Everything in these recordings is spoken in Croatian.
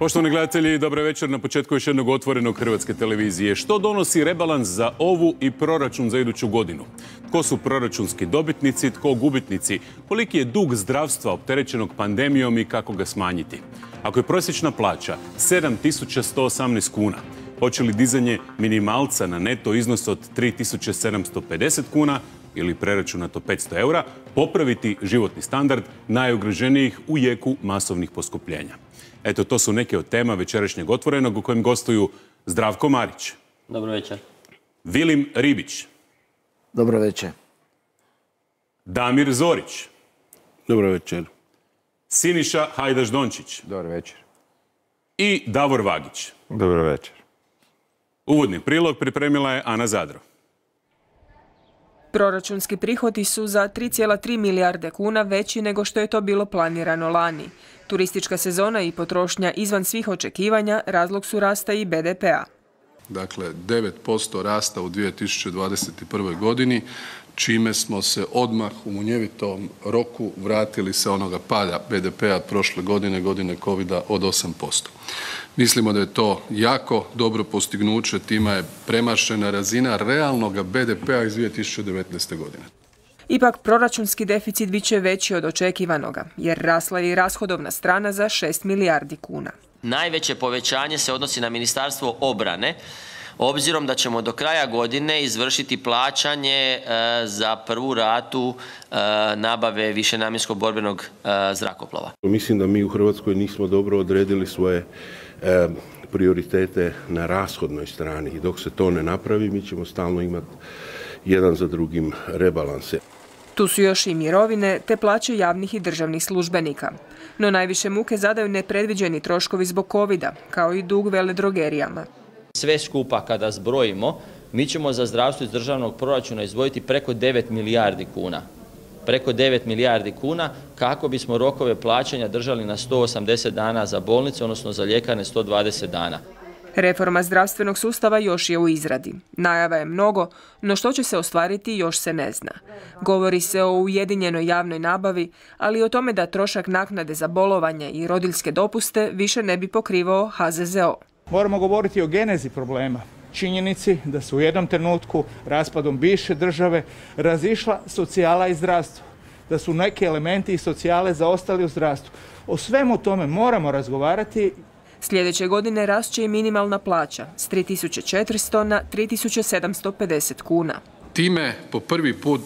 Poštovani gledatelji, dobar večer. Na početku još jednog otvorenog Hrvatske televizije. Što donosi rebalans za ovu i proračun za iduću godinu? Tko su proračunski dobitnici, tko gubitnici? Koliki je dug zdravstva opterećenog pandemijom i kako ga smanjiti? Ako je prosječna plaća 7.118 kuna, hoće li dizanje minimalca na neto iznos od 3.750 kuna ili preračunato 500 eura popraviti životni standard najugroženijih u jeku masovnih poskupljenja? Eto, to su neke od tema večerašnjeg Otvorenog u kojem gostuju Zdravko Marić. Dobro večer. Vilim Ribić. Dobro večer. Damir Zorić. Dobro večer. Siniša Hajdaš-Dončić. Dobro večer. I Davor Vagić. Dobro večer. Uvodni prilog pripremila je Ana Zadro. Proračunski prihodi su za 3,3 milijarde kuna veći nego što je to bilo planirano lani. Turistička sezona i potrošnja izvan svih očekivanja razlog su rasta i BDP-a. Dakle, 9% rasta u 2021. godini, čime smo se odmah u munjevitom roku vratili sa onoga pada BDP-a prošle godine, godine Covida od 8%. Mislimo da je to jako dobro postignuće, time je premašena razina realnog BDP-a iz 2019. godine. Ipak proračunski deficit bit će veći od očekivanoga, jer rasla je i rashodovna strana za 6 milijardi kuna. Najveće povećanje se odnosi na Ministarstvo obrane, obzirom da ćemo do kraja godine izvršiti plaćanje za prvu ratu nabave višenamjenskog borbenog zrakoplova. Mislim da mi u Hrvatskoj nismo dobro odredili svoje prioritete na rashodnoj strani i dok se to ne napravi mi ćemo stalno imati jedan za drugim rebalanse. Tu su još i mirovine te plaće javnih i državnih službenika. No najviše muke zadaju nepredviđeni troškovi zbog covida, kao i dug veledrogerijama. Sve skupa kada zbrojimo, mi ćemo za zdravstvo iz državnog proračuna izdvojiti preko 9 milijardi kuna. Preko 9 milijardi kuna kako bismo rokove plaćanja držali na 180 dana za bolnice, odnosno za ljekarne 120 dana. Reforma zdravstvenog sustava još je u izradi. Najava je mnogo, no što će se ostvariti još se ne zna. Govori se o ujedinjenoj javnoj nabavi, ali i o tome da trošak naknade za bolovanje i rodiljske dopuste više ne bi pokrivao HZZO. Moramo govoriti o genezi problema. Činjenici da su u jednom trenutku raspadom bivše države razišla socijala i zdravstvo. Da su neki elementi iz socijale zaostali u zdravstvu. O svemu tome moramo razgovarati. Sljedeće godine rast će i minimalna plaća s 3.400 na 3.750 kuna. Time po prvi put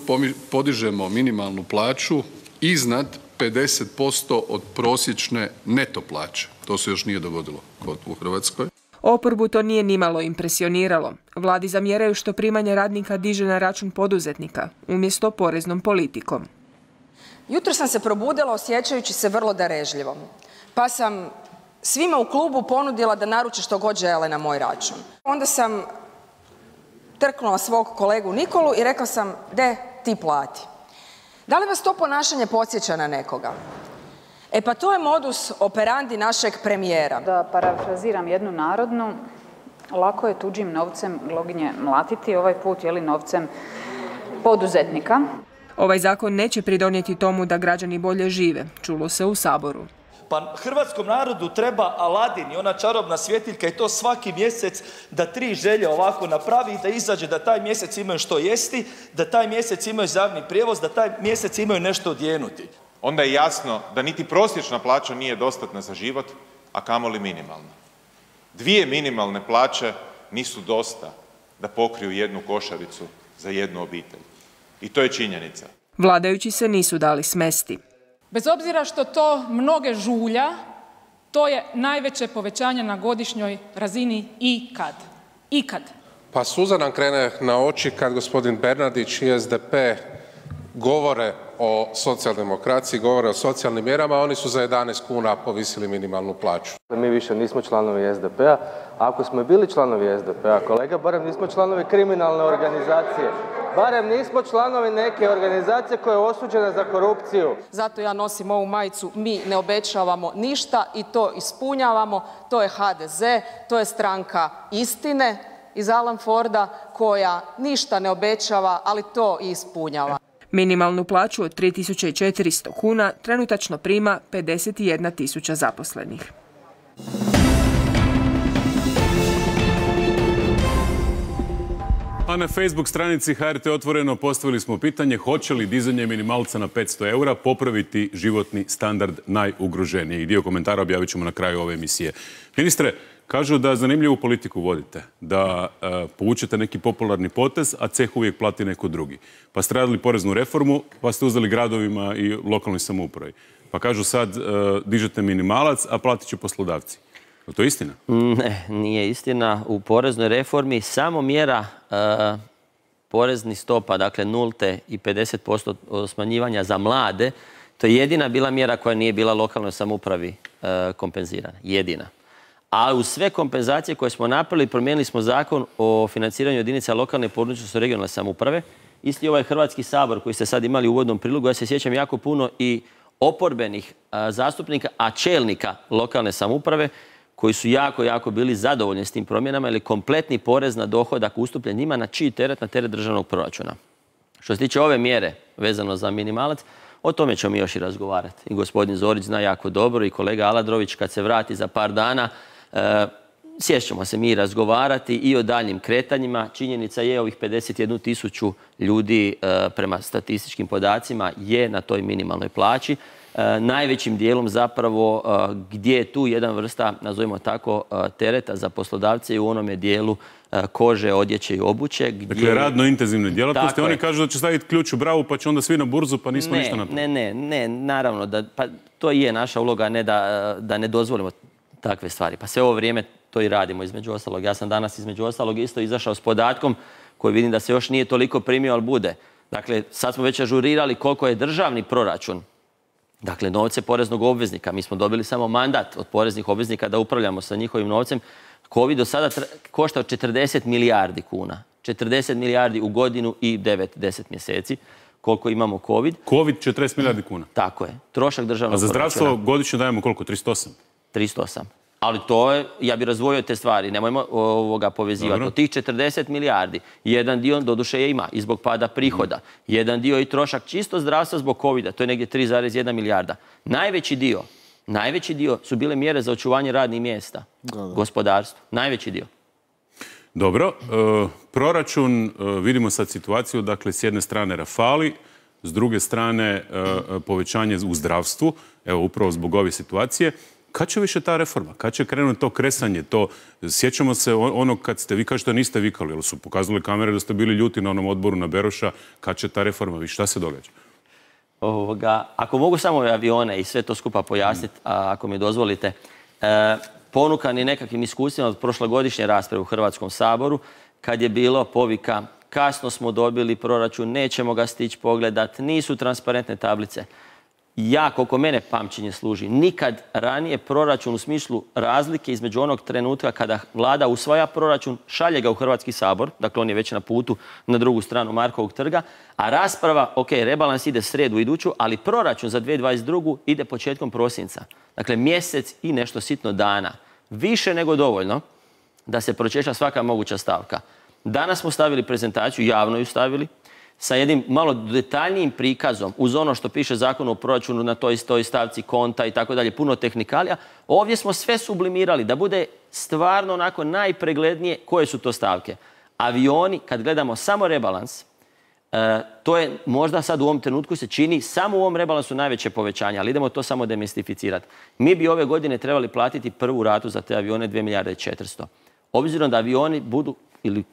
podižemo minimalnu plaću iznad 50% od prosječne neto plaće. To se još nije dogodilo u Hrvatskoj. Oporbu to nije nimalo impresioniralo. Vladi zamjeraju što primanje radnika diže na račun poduzetnika, umjesto poreznom politikom. Jutro sam se probudila osjećajući se vrlo darežljivo, pa sam svima u klubu ponudila da naruče što god žele na moj račun. Onda sam trknula svog kolegu Nikolu i rekla sam, de, ti plati. Da li vas to ponašanje podsjeća na nekoga? E pa to je modus operandi našeg premijera. Da parafraziram jednu narodnu, lako je tuđim novcem gloginje mlatiti, ovaj put je li novcem poduzetnika. Ovaj zakon neće pridonijeti tomu da građani bolje žive, čulo se u Saboru. Pa hrvatskom narodu treba Aladin i ona čarobna svjetiljka i to svaki mjesec da 3 želje ovako napravi i da izađe da taj mjesec imaju što jesti, da taj mjesec imaju za javni prijevoz, da taj mjesec imaju nešto odjenuti. Onda je jasno da niti prosječna plaća nije dostatna za život, a kamoli minimalna. 2 minimalne plaće nisu dosta da pokriju jednu košaricu za jednu obitelj. I to je činjenica. Vladajući se nisu dali smesti. Bez obzira što to mnoge žulja, to je najveće povećanje na godišnjoj razini ikad. Ikad. Pa suza nam krene na oči kad gospodin Bernardić i SDP govore o socijaldemokraciji, govore o socijalnim mjerama, oni su za 11 kuna povisili minimalnu plaću. Mi više nismo članovi SDP-a. Ako smo bili članovi SDP-a, kolega, barem nismo članovi kriminalne organizacije. Barem nismo članovi neke organizacije koja je osuđena za korupciju. Zato ja nosim ovu majicu, mi ne obećavamo ništa i to ispunjavamo. To je HDZ, to je stranka istine iz Alan Forda koja ništa ne obećava, ali to i ispunjava. Minimalnu plaću od 3.400 kuna trenutačno prima 51.000 zaposlenih. A na Facebook stranici HRT Otvoreno postavili smo pitanje hoće li dizanje minimalca na 500 eura popraviti životni standard najugroženijih. Dio komentara objavit ćemo na kraju ove emisije. Ministre, kažu da zanimljivu politiku vodite, da povučete neki popularni potez, a ceh uvijek plati neko drugi. Pa ste radili poreznu reformu, pa ste uzeli gradovima i lokalnoj samoupravi. Pa kažu sad dižete minimalac, a platit će poslodavci. Je to istina? Ne, nije istina. U poreznoj reformi samo mjera poreznih stopa, dakle nulte i 50% smanjivanja za mlade, to je jedina bila mjera koja nije bila lokalnoj samoupravi kompenzirana. Jedina. A uz sve kompenzacije koje smo napravili, promijenili smo zakon o financiranju jedinica lokalne i područne regionalne samouprave. Isti ovaj Hrvatski sabor koji ste sad imali u uvodnom prilogu, ja se sjećam jako puno i oporbenih zastupnika, a čelnika lokalne samouprave koji su jako bili zadovoljni s tim promjenama, ili kompletni porez na dohodak ustupljen njima na čiji teret? Na teret državnog proračuna. Što se tiče ove mjere vezano za minimalac, o tome ćemo mi još i razgovarati. I gospodin Zorić zna jako dobro i kolega Aladrović kad se vrati za par dana, sjest ćemo se mi razgovarati i o daljnjim kretanjima. Činjenica je ovih 51.000 ljudi prema statističkim podacima je na toj minimalnoj plaći. Najvećim dijelom zapravo gdje je tu jedan vrsta, nazovimo tako, tereta za poslodavce i u onome dijelu kože, odjeće i obuće. Dakle, radno intenzivne djelatnosti. Oni kažu da će staviti ključ u bravu pa će onda svi na burzu pa nismo ništa napravili. Ne, naravno. Pa to je naša uloga, ne da ne dozvolimo takve stvari. Pa sve ovo vrijeme to i radimo između ostalog. Ja sam danas između ostalog isto izašao s podatkom koji vidim da se još nije toliko primio, ali bude. Dakle, sad smo već ažurirali koliko je državni proračun. Dakle, novce poreznog obveznika. Mi smo dobili samo mandat od poreznih obveznika da upravljamo sa njihovim novcem. Covid do sada koštao 40 milijardi kuna. 40 milijardi u godinu i 9-10 mjeseci. Koliko imamo Covid. Covid 40 milijardi kuna. Tako je. Trošak državnog proračuna. A za zdravstvo godišnje dajemo koliko? 308? 308. Ali to je, ja bih razdvojio te stvari, nemojmo povezivati. Od tih 40 milijardi, jedan dio doduše je ima i zbog pada prihoda. Jedan dio i trošak čisto zdravstva zbog Covida, to je negdje 3,1 milijarda. Najveći dio su bile mjere za očuvanje radnih mjesta, gospodarstvo. Najveći dio. Dobro, proračun, vidimo sad situaciju, dakle s jedne strane Rafali, s druge strane povećanje u zdravstvu, evo upravo zbog ove situacije. Kad će više ta reforma? Kad će krenuti to kresanje? Sjećamo se onog kad ste, vi kažete da niste vikali, ali su pokazali kamere da ste bili ljuti na onom odboru na Beroša. Kad će ta reforma više? Šta se događa? Ako mogu samo avione i sve to skupa pojasniti, ako mi dozvolite, ponukani nekakvim iskustvima od prošlogodišnje rasprave u Hrvatskom saboru, kad je bilo povika kasno smo dobili proračun, nećemo ga stići pogledat, nisu transparentne tablice. Ja, koliko mene pamćenje služi, nikad ranije proračun u smislu razlike između onog trenutka kada vlada usvaja proračun, šalje ga u Hrvatski sabor, dakle on je već na putu na drugu stranu Markovog trga, a rasprava, rebalans ide srijedu iduću, ali proračun za 2022. ide početkom prosinca. Dakle, mjesec i nešto sitno dana. Više nego dovoljno da se pročešlja svaka moguća stavka. Danas smo stavili prezentaciju, javno ju stavili, sa jednim malo detaljnijim prikazom uz ono što piše Zakon o proračunu na toj stavci konta i tako dalje, puno tehnikalija. Ovdje smo sve sublimirali da bude stvarno onako najpreglednije koje su to stavke. Avioni, kad gledamo samo rebalans, to je možda sad u ovom trenutku se čini samo u ovom rebalansu najveće povećanje, ali idemo to samo demistificirati. Mi bi ove godine trebali platiti prvu ratu za te avione 2 milijarde i 400. Obzirom da avioni budu, ili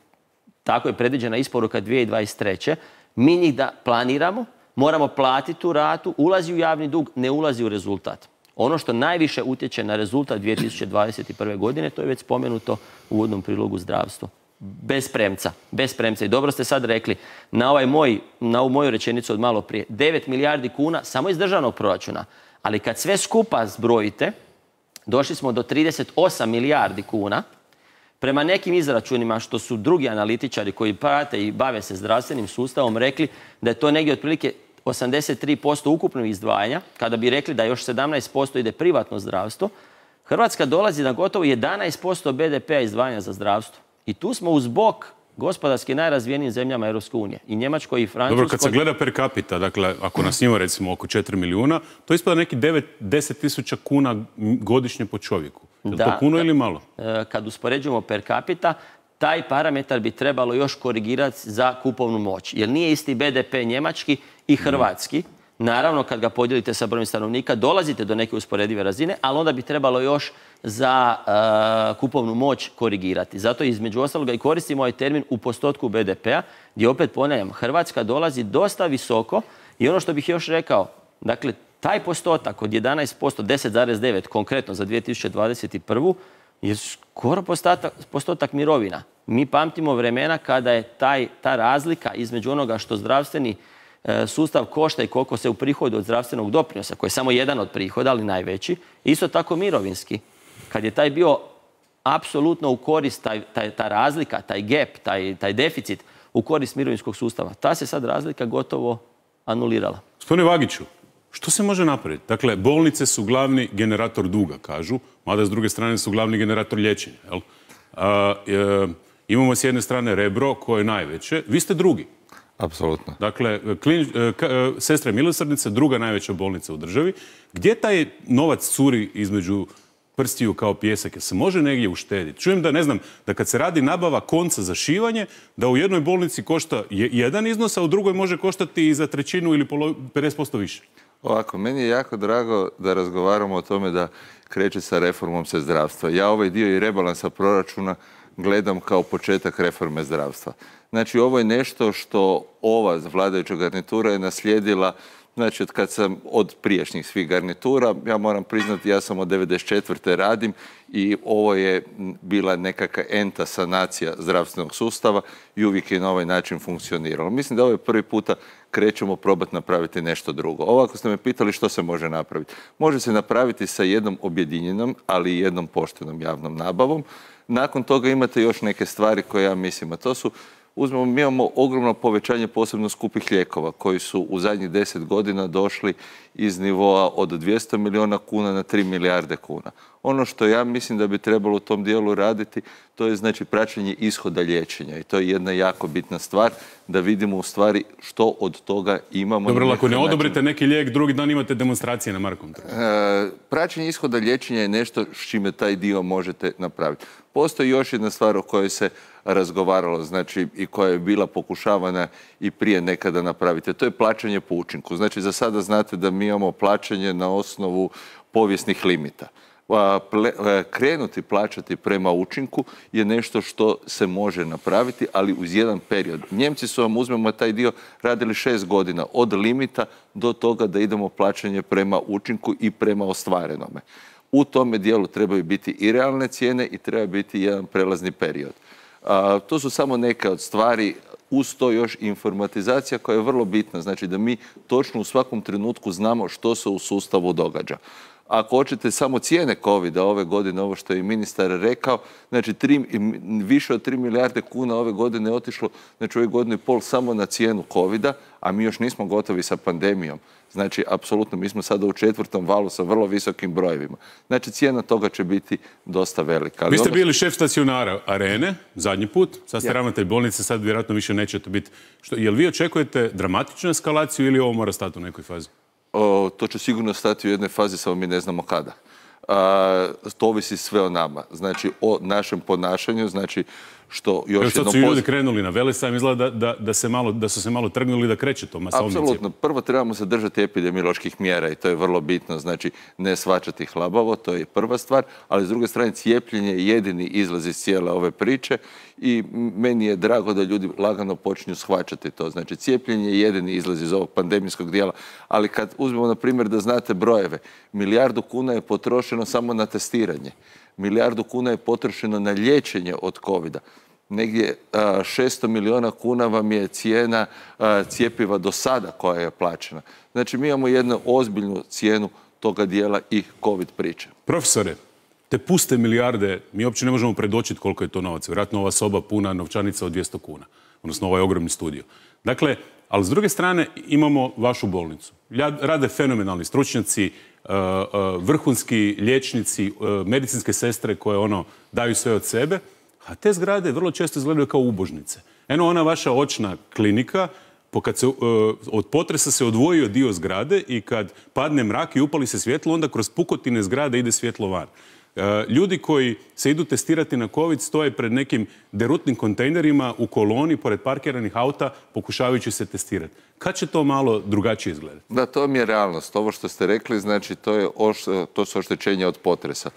tako je predviđena isporuka 2023. Mi njih da planiramo, moramo platiti tu ratu, ulazi u javni dug, ne ulazi u rezultat. Ono što najviše utječe na rezultat 2021. godine, to je već spomenuto u uvodnom prilogu zdravstvu. Bez premca. I dobro ste sad rekli, na ovu moju rečenicu od malo prije, 9 milijardi kuna samo iz državnog proračuna. Ali kad sve skupa zbrojite, došli smo do 38 milijardi kuna. Prema nekim izračunima što su drugi analitičari koji prate i bave se zdravstvenim sustavom rekli da je to negdje otprilike 83% ukupnog izdvajanja, kada bi rekli da još 17% ide privatno zdravstvo, Hrvatska dolazi na gotovo 11% BDP-a izdvajanja za zdravstvo. I tu smo uz bok gospodarski najrazvijenijim zemljama Europske unije. I Njemačkoj i Francuskoj. Dobro, kad se gleda per capita, dakle, ako nas ima recimo oko 4 milijuna, to ispada neki 9-10 tisuća kuna godišnje po čovjeku. Je li to puno ili malo? Kad uspoređujemo per capita, taj parametar bi trebalo još korigirati za kupovnu moć. Jer nije isti BDP njemački i hrvatski. Naravno, kad ga podijelite sa brojem stanovnika, dolazite do neke usporedive razine, ali onda bi trebalo još za kupovnu moć korigirati. Zato između ostaloga i koristimo ovaj termin u postotku BDP-a, gdje opet ponavljam, Hrvatska dolazi dosta visoko i ono što bih još rekao, dakle, taj postotak od 11%, 10,9% konkretno za 2021. je skoro postotak mirovina. Mi pamtimo vremena kada je ta razlika između onoga što zdravstveni sustav košta i koliko se uprihoduje od zdravstvenog doprinosa, koji je samo jedan od prihoda, ali najveći, isto tako mirovinski. Kad je taj bio apsolutno u korist, ta razlika, taj gap, taj deficit u korist mirovinskog sustava, ta se sad razlika gotovo anulirala. Gospodine Vagiću, što se može napraviti? Dakle, bolnice su glavni generator duga, kažu, mada s druge strane su glavni generator liječenja. Imamo s jedne strane Rebro, koje je najveće. Vi ste drugi. Apsolutno. Dakle, Sestre milosrdnice, druga najveća bolnica u državi. Gdje taj novac curi između prstiju kao pijesak? Se može negdje uštediti? Čujem da, ne znam, da kad se radi nabava konca za šivanje, da u jednoj bolnici košta jedan iznos, a u drugoj može koštati i za trećinu ili 50% više. Ovako, meni je jako drago da razgovaramo o tome da kreće sa reformom se zdravstva. Ja ovaj dio i rebalansa proračuna gledam kao početak reforme zdravstva. Znači, ovo je nešto što ova vladajuća garnitura je naslijedila, znači, od prijašnjih svih garnitura. Ja moram priznati, ja sam od 1994. radim i ovo je bila nekakva enta sanacija zdravstvenog sustava i uvijek je na ovaj način funkcioniralo. Mislim da ovo je prvi puta krećemo probati napraviti nešto drugo. Ovako ste me pitali što se može napraviti. Može se napraviti sa jednom objedinjenom, ali i jednom poštenom javnom nabavom. Nakon toga imate još neke stvari koje ja mislim, a to su, mi imamo ogromno povećanje posebno skupih lijekova koji su u zadnjih 10 godina došli iz nivoa od 200 milijuna kuna na 3 milijarde kuna. Ono što ja mislim da bi trebalo u tom dijelu raditi, to je znači praćenje ishoda liječenja i to je jedna jako bitna stvar da vidimo u stvari što od toga imamo. Dobro, ako ne odobrite neki lijek, drugi dan imate demonstracije na Markovom trgu. Praćenje ishoda liječenja je nešto s čime taj dio možete napraviti. Postoji još jedna stvar o kojoj se razgovaralo, znači i koja je bila pokušavana i prije nekada napraviti. To je plaćanje po učinku. Znači, za sada znate da mi imamo plaćanje na osnovu povijesnih limita. Krenuti plaćati prema učinku je nešto što se može napraviti, ali uz jedan period. Njemci su vam, uzmemo taj dio, radili 6 godina od limita do toga da idemo plaćanje prema učinku i prema ostvarenome. U tome dijelu trebaju biti i realne cijene i treba biti jedan prelazni period. To su samo neke od stvari, uz to još informatizacija koja je vrlo bitna, znači da mi točno u svakom trenutku znamo što se u sustavu događa. Ako hoćete samo cijene COVID-a ove godine, ovo što je i ministar rekao, znači više od 3 milijarde kuna ove godine je otišlo, znači ove godine i pol samo na cijenu COVID-a, a mi još nismo gotovi sa pandemijom. Znači, apsolutno, mi smo sada u 4. valu sa vrlo visokim brojevima. Znači, cijena toga će biti dosta velika. Vi ste bili šef stacionara Arene, zadnji put, sad ste ravnatelj bolnice, sad vjerojatno više nećete biti. Jel vi očekujete dramatičnu eskalaciju ili ovo mora stati u nekoj fazi? To će sigurno stati u jednoj fazi, samo mi ne znamo kada. To ovisi sve o nama, znači o našem ponašanju, znači što još jednom... Sad su ljudi krenuli na Velesajam, izgleda da su se malo trgnuli da kreće to masovnim cijepljenjem. Apsolutno. Prvo trebamo se držati epidemioloških mjera i to je vrlo bitno, znači ne shvaćati hlabavo, to je prva stvar, ali s druge strane cijepljenje je jedini izlaz iz cijele ove priče i meni je drago da ljudi lagano počinju shvaćati to. Znači cijepljenje je jedini izlaz iz ovog pandemijskog dijela, ali kad uzmemo na primjer da znate brojeve, 1 milijardu kuna je potrošeno samo na testiranje. 1 milijardu kuna je potrošeno na liječenje od COVID-a. Negdje 600 milijuna kuna vam je cijena cjepiva do sada koja je plaćena. Znači, mi imamo jednu ozbiljnu cijenu toga dijela i COVID priče. Profesore, te puste milijarde, mi uopće ne možemo predočiti koliko je to novaca. Vjerojatno ova soba puna novčanica od 200 kuna, odnosno ovaj ogromni studio. Dakle, ali s druge strane imamo vašu bolnicu. Rade fenomenalni stručnjaci, vrhunski liječnici, medicinske sestre koje daju sve od sebe, a te zgrade vrlo često izgledaju kao ubožnice. Eno, ona vaša očna klinika, kad se od potresa se odvojio dio zgrade i kad padne mrak i upali se svjetlo, onda kroz pukotine zgrade ide svjetlo van. Ljudi koji se idu testirati na COVID stoje pred nekim derutnim kontejnerima u koloni pored parkiranih auta pokušavajući se testirati. Kad će to malo drugačije izgledati? Da, to mi je realnost. Ovo što ste rekli, znači to su oštećenja od potresa.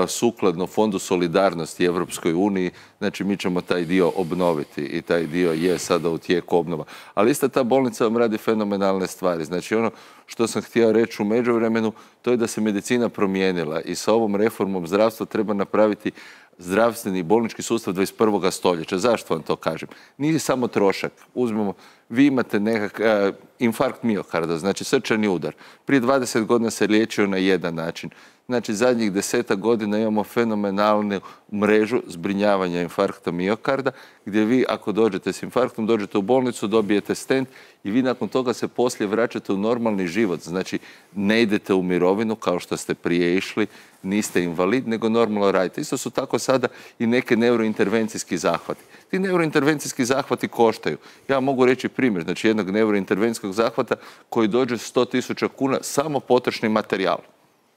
Sukladno Fondu solidarnosti Evropskoj uniji, znači mi ćemo taj dio obnoviti i taj dio je sada u tijeku obnova. Ali ista ta bolnica vam radi fenomenalne stvari. Znači ono što sam htio reći u međuvremenu, to je da se medicina promijenila i sa ovom reformom zdravstva treba napraviti zdravstveni i bolnički sustav 21. stoljeća. Zašto vam to kažem? Nije samo trošak. Uzmemo, vi imate nekakav infarkt miokarda, znači srčani udar. Prije 20 godina se liječio na jedan način. Znači, zadnjih 10 godina imamo fenomenalnu mrežu zbrinjavanja infarkta miokarda, gdje vi, ako dođete s infarktom, dođete u bolnicu, dobijete stent i vi nakon toga se poslije vraćate u normalni život. Znači, ne idete u mirovinu kao što ste prije išli, niste invalid, nego normalno radite. Isto su tako sada i neke neurointervencijski zahvati. Ti neurointervencijski zahvati koštaju. Ja mogu reći primjer, znači jednog neurointervencijskog zahvata koji dođe 100.000 kuna samo potrošni materijal.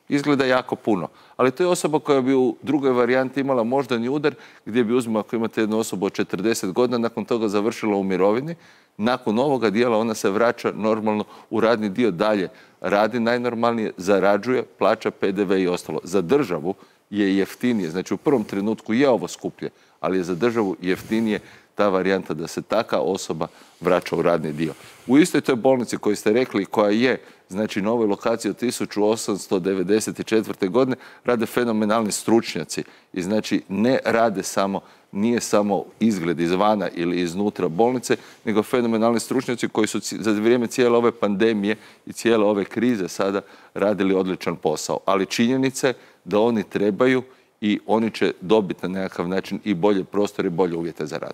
Izgleda jako puno, ali to je osoba koja bi u drugoj varijanti imala moždani udar, gdje bi, uzmimo, ako imate jednu osobu od 40 godina, nakon toga završila u mirovini, nakon ovoga dijela ona se vraća normalno u radni dio, dalje radi najnormalnije, zarađuje, plaća PDV i ostalo. Za državu je jeftinije, znači u prvom trenutku je ovo skuplje, ali je za državu jeftinije ta varijanta da se taka osoba vraća u radni dio. U istoj toj bolnici koju ste rekli, koja je, znači, na ovoj lokaciji od 1894. godine, rade fenomenalni stručnjaci i znači ne rade samo, nije samo izgled izvana ili iznutra bolnice, nego fenomenalni stručnjaci koji su za vrijeme cijele ove pandemije i cijele ove krize sada radili odličan posao. Ali činjenica je da oni trebaju i oni će dobiti na nekakav način i bolje prostore i bolje uvjete za rad.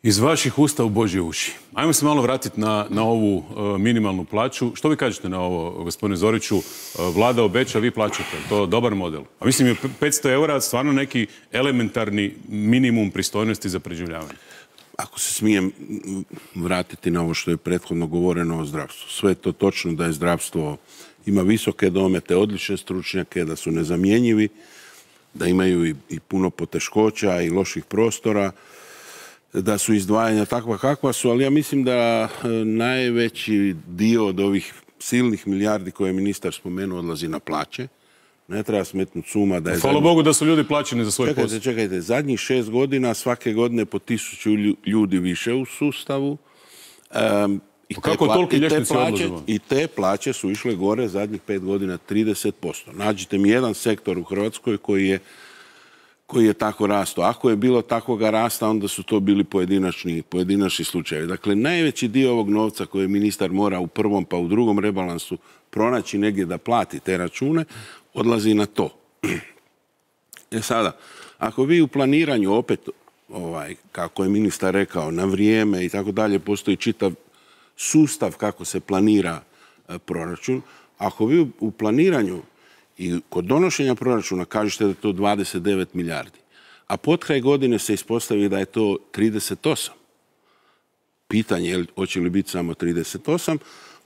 Iz vaših usta u Božje uši. Ajmo se malo vratiti na ovu minimalnu plaću. Što vi kažete na ovo, gospodine Zoriću? Vlada obeća, vi plaćate. To je dobar model. A mislim je 500 eura stvarno neki elementarni minimum pristojnosti za preživljavanje. Ako se smijem vratiti na ovo što je prethodno govoreno o zdravstvu. Sve je to točno da je zdravstvo ima visoke domete, odlične stručnjake, da su nezamjenjivi, da imaju i puno poteškoća i loših prostora, da su izdvajanja takva kakva su, ali ja mislim da najveći dio od ovih silnih milijardi koje je ministar spomenuo odlazi na plaće. Ne treba smetnuti suma da je... Hvala Bogu da su ljudi plaćeni za svoj posao. Čekajte, zadnjih 6 godina svake godine po 1000 ljudi više u sustavu. Kako toliki liječnici odlaze? I te plaće su išle gore zadnjih 5 godina 30%. Nađite mi jedan sektor u Hrvatskoj koji je tako rastao. Ako je bilo takvoga rasta, onda su to bili pojedinačni slučajevi. Dakle, najveći dio ovog novca koje ministar mora u prvom pa u drugom rebalansu pronaći negdje da plati te račune, odlazi na to. Sada, ako vi u planiranju opet, kako je ministar rekao, na vrijeme i tako dalje, postoji čitav sustav kako se planira proračun, ako vi u planiranju i kod donošenja proračuna kažete da je to 29 milijardi, a potkraj godine se ispostavi da je to 38. Pitanje je hoće li biti samo 38,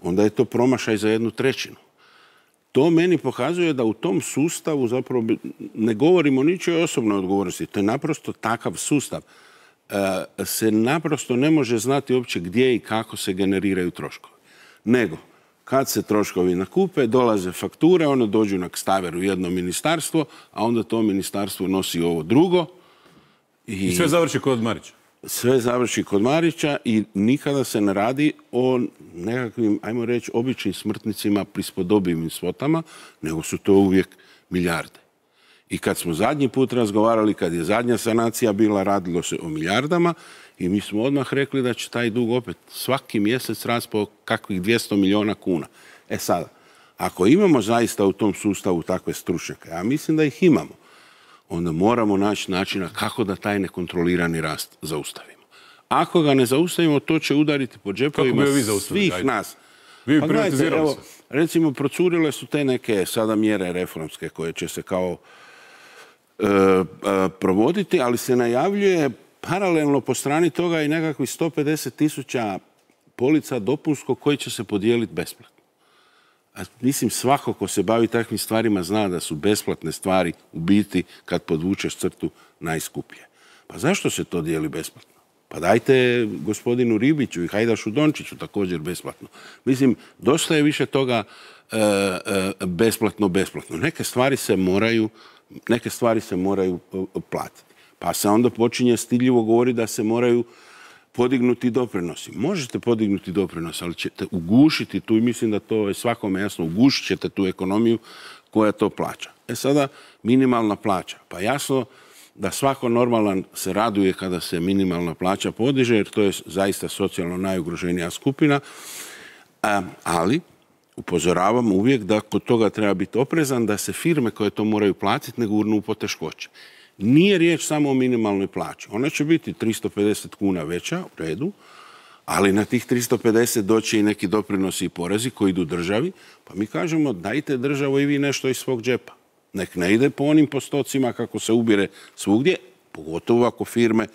onda je to promašaj za 1/3. To meni pokazuje da u tom sustavu zapravo ne govorimo o ničoj osobnoj odgovornosti. To je naprosto takav sustav. Se naprosto ne može znati uopće gdje i kako se generiraju troškovi. Nego, kad se troškovi nakupe, dolaze fakture, one dođu na kstaver u jedno ministarstvo, a onda to ministarstvo nosi ovo drugo. I sve završi kod Marića? Sve završi kod Marića i nikada se ne radi o nekakvim, ajmo reći, običnim smrtnicima prispodobivim svotama, nego su to uvijek milijarde. I kad smo zadnji put razgovarali, kad je zadnja sanacija bila, radilo se o milijardama i mi smo odmah rekli da će taj dug opet svaki mjesec rasti po kakvih 200 milijuna kuna. Sada, ako imamo zaista u tom sustavu takve stručnjake, a mislim da ih imamo, onda moramo naći načina kako da taj nekontrolirani rast zaustavimo. Ako ga ne zaustavimo, to će udariti po džepovima svih nas. Vi bi privatizirali se. Recimo, procurile su te neke sada mjere reformske koje će se kao provoditi, ali se najavljuje paralelno po strani toga i nekakvih 150.000 polica dopunskog koji će se podijeliti besplatno. Mislim, svako ko se bavi takvim stvarima zna da su besplatne stvari u biti, kad podvučeš crtu, najskuplje. Pa zašto se to dijeli besplatno? Pa dajte gospodinu Ribiću i Hajdašu Dončiću također besplatno. Mislim, dosta je više toga besplatno. Neke stvari se moraju platiti. Pa se onda počinje stidljivo govoriti da se moraju podignuti doprinosi. Možete podignuti doprinos, ali ćete ugušiti tu, i mislim da to je svakome jasno, ugušit ćete tu ekonomiju koja to plaća. Sada, minimalna plaća. Pa jasno da svako normalan se raduje kada se minimalna plaća podiže, jer to je zaista socijalno najugroženija skupina, ali upozoravam uvijek da kod toga treba biti oprezan, da se firme koje to moraju platiti ne gurnu u poteškoće. Nije riječ samo o minimalnoj plaći. Ona će biti 350 kuna veća, u redu, ali na tih 350 doći i neki doprinosi i porezi koji idu državi, pa mi kažemo dajte državo i vi nešto iz svog džepa. Nek ne ide po onim postocima kako se ubire svugdje, pogotovo ako firme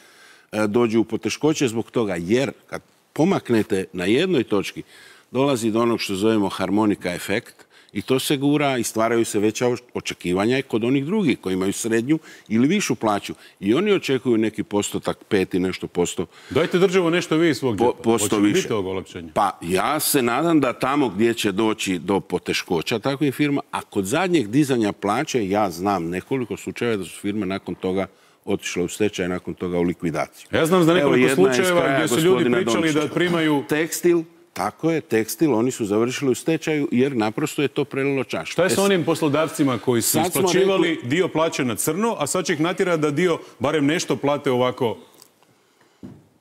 dođu u poteškoće zbog toga, jer kad pomaknete na jednoj točki, dolazi do onog što zovemo harmonika efekt, i to se gura i stvaraju se veća očekivanja kod onih drugih koji imaju srednju ili višu plaću. I oni očekuju neki postotak, 5 i nešto posto. Dajte državo nešto vi iz svog džepa. Posto više. Biti ovog olakšanja? Pa ja se nadam da tamo gdje će doći do poteškoća takvih firma, a kod zadnjeg dizanja plaće ja znam nekoliko slučajeva da su firme nakon toga otišle u stečaj, nakon toga u likvidaciju. Ja znam za nekoliko slučajeva gdje su ljudi pričali da primaju... Tekstil. Tako je, tekstil, oni su završili u stečaju jer naprosto je to prelilo čašu. Šta je sa onim poslodavcima koji su isplaćivali dio plaće na crno, a sad će ih natjera da dio, barem nešto plate ovako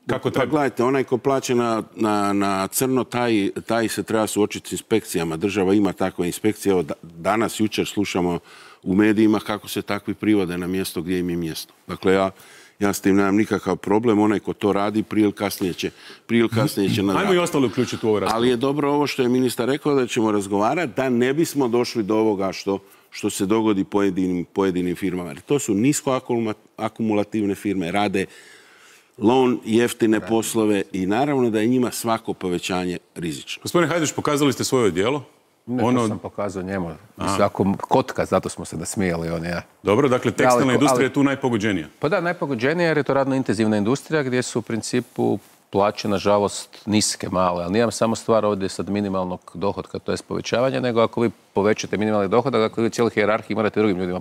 kako treba? Pa gledajte, onaj ko plaće na crno, taj se treba suočiti s inspekcijama. Država ima takve inspekcije. Evo, danas, jučer slušamo u medijima kako se takvi privode na mjesto gdje im je mjesto. Dakle, ja s tim nemam nikakav problem, onaj ko to radi prije ili kasnije će Ajmo i ostali uključiti u ovo raspravu. Ali je dobro ovo što je ministar rekao, da ćemo razgovarati, da ne bismo došli do ovoga što se dogodi pojedinim firmama. To su nisko akumulativne firme, rade loan, jeftine poslove i naravno da je njima svako povećanje rizično. Gospodine Hajdaš, pokazali ste svoje djelo? Ne, to sam pokazao njemu. Ako kotka, zato smo se nasmijali on i ja. Dobro, dakle, tekstilna industrija je tu najpogođenija. Pa da, najpogođenija jer je to radno intenzivna industrija gdje su u principu plaće, nažalost, niske, male. Ali nije samo stvar ovdje sad minimalnog dohotka, to je povećavanje, nego ako vi povećate minimalni dohodak, dakle vi cijelu hijerarhiju morate drugim ljudima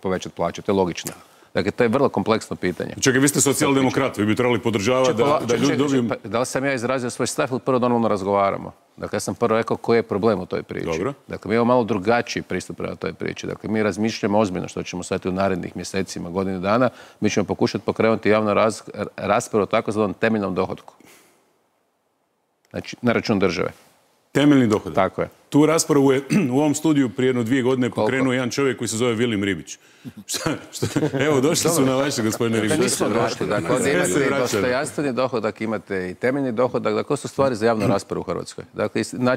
povećati plaće. To je logično. Dakle, to je vrlo kompleksno pitanje. Čekaj, vi ste socijaldemokrat, vi bi trebali podržavati da ljudi dobiju... Da li sam ja izrazio svoj stav ili prvo normalno razgovaramo? Dakle, ja sam prvo rekao koji je problem u toj priči. Dobro. Dakle, mi imamo malo drugačiji pristup prema toj priči. Dakle, mi razmišljamo ozbiljno što ćemo sad u narednih mjesecima, godinu dana. Mi ćemo pokušati pokrenuti javnu raspravu o takozvanom temeljnom dohotku. Znači, na račun države. Temeljni dohodak. Tako je. Tu raspravu je u ovom studiju prije 2 godine pokrenuo jedan čovjek koji se zove Vilim Ribić. Evo, došli su na vaše, gospodine Ribić. Nismo došli. Dakle, ovdje imate i dostojanstveni dohodak, imate i temeljni dohodak. Dakle, to su stvari za javnu raspravu u Hrvatskoj.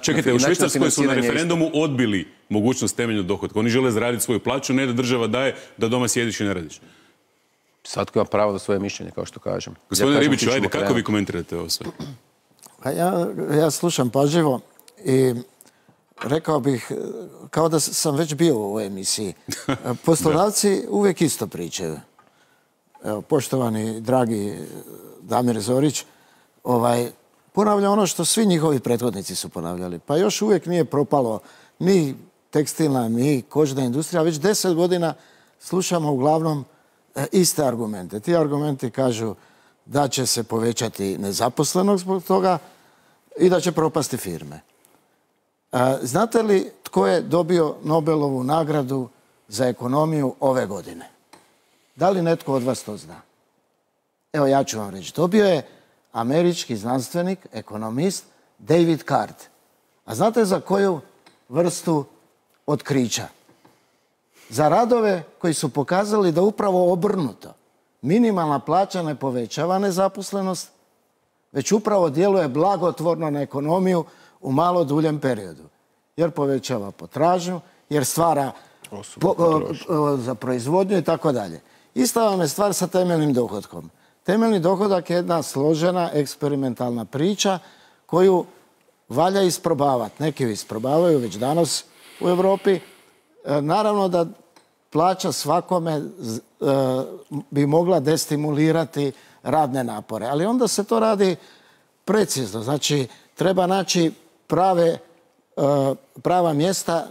Čekajte, u Švicarskoj su na referendumu odbili mogućnost temeljnog dohodka. Oni žele zaraditi svoju plaću, ne da država daje, da doma sjediš i ne radiš. Svatko ima pravo na svoje mišljenje, kao što kažem. Gospodine Ribiću, ajde, kako vi komentirate ovo sve? Ja slušam pažljivo i rekao bih, kao da sam već bio u ovoj emisiji. Poslodavci uvijek isto pričaju. Evo, poštovani, dragi Damir Zorić, ponavlja ono što svi njihovi prethodnici su ponavljali. Pa još uvijek nije propalo ni tekstilna, ni kožna industrija. Već 10 godina slušamo uglavnom iste argumente. Ti argumenti kažu da će se povećati nezaposlenost zbog toga i da će propasti firme. Znate li tko je dobio Nobelovu nagradu za ekonomiju ove godine? Da li netko od vas to zna? Evo, ja ću vam reći. Dobio je američki znanstvenik, ekonomist David Card. A znate za koju vrstu otkrića? Za radove koji su pokazali da upravo obrnuto. Minimalna plaća ne povećava nezaposlenost, već upravo djeluje blagotvorno na ekonomiju u malo duljem periodu. Jer povećava potražnju, jer stvara za proizvodnju i tako dalje. Ista vam je stvar sa temeljnim dohodkom. Temeljni dohodak je jedna složena eksperimentalna priča koju valja isprobavati. Neki isprobavaju već danas u Europi. Naravno da plaća svakome bi mogla destimulirati radne napore. Ali onda se to radi precizno. Znači, treba naći prava mjesta,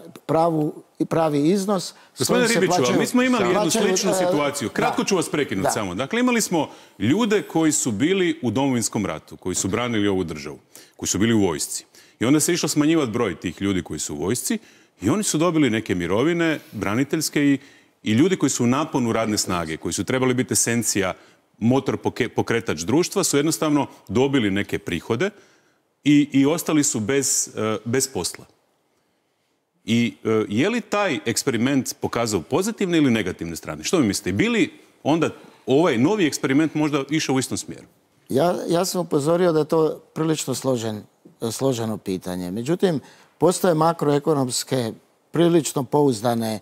pravi iznos. Gospodine Ribiću, mi smo imali jednu sličnu situaciju. Kratko ću vas prekinuti samo. Dakle, imali smo ljude koji su bili u Domovinskom ratu, koji su branili ovu državu, koji su bili u vojsci. I onda se išlo smanjivati broj tih ljudi koji su u vojsci i oni su dobili neke mirovine, braniteljske i ljudi koji su u naponu radne snage, koji su trebali biti esencija, motor pokretač društva, su jednostavno dobili neke prihode i ostali su bez posla. I je li taj eksperiment pokazao pozitivne ili negativne strane? Što mi mislite? Bili onda ovaj novi eksperiment možda išao u istom smjeru? Ja sam upozorio da je to prilično složeno pitanje. Međutim, postoje makroekonomske, prilično pouzdane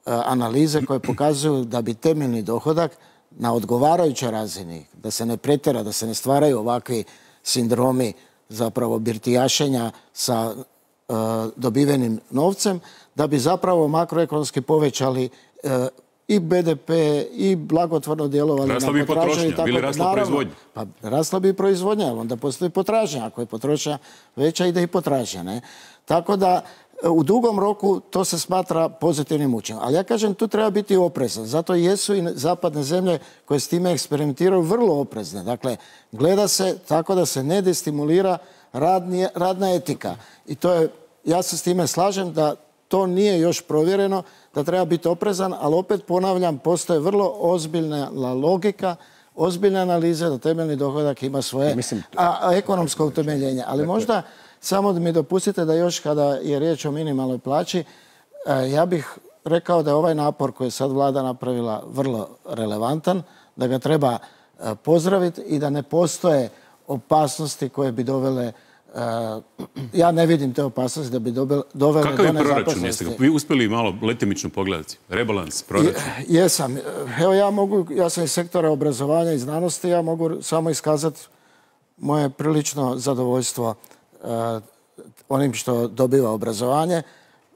analize koje pokazuju da bi temeljni dohodak na odgovarajućoj razini, da se ne pretjera, da se ne stvaraju ovakvi sindromi zapravo birtijašenja sa dobivenim novcem, da bi zapravo makroekonomski povećali i BDP i blagotvorno djelovali na potražnju. Rasla bi potrošnja, bili rasla proizvodnja. Pa rasla bi proizvodnja, ali onda postoji potražnja. Ako je potrošnja veća, ide i potražnja. Ne? Tako da u dugom roku to se smatra pozitivnim učinkom. Ali ja kažem, tu treba biti oprezan. Zato jesu i zapadne zemlje koje s time eksperimentiraju vrlo oprezne. Dakle, gleda se tako da se ne destimulira radna etika. I to je, ja se s time slažem da to nije još provjereno, da treba biti oprezan, ali opet ponavljam, postoje vrlo ozbiljna logika, ozbiljne analize da temeljni dohodak ima svoje ekonomsko utemeljenje. Ali možda samo da mi dopustite da još kada je riječ o minimalnoj plaći, ja bih rekao da je ovaj napor koji je sad vlada napravila vrlo relevantan, da ga treba pozdraviti i da ne postoje opasnosti koje bi dovele, ja ne vidim te opasnosti da bi dovele do nezaposlenosti. Kakav je proračun? Jeste ga vi uspjeli malo letimično pogledati? Rebalans, proračun? Jesam. Evo ja sam iz sektora obrazovanja i znanosti, ja mogu samo iskazati moje prilično zadovoljstvo onim što dobiva obrazovanje.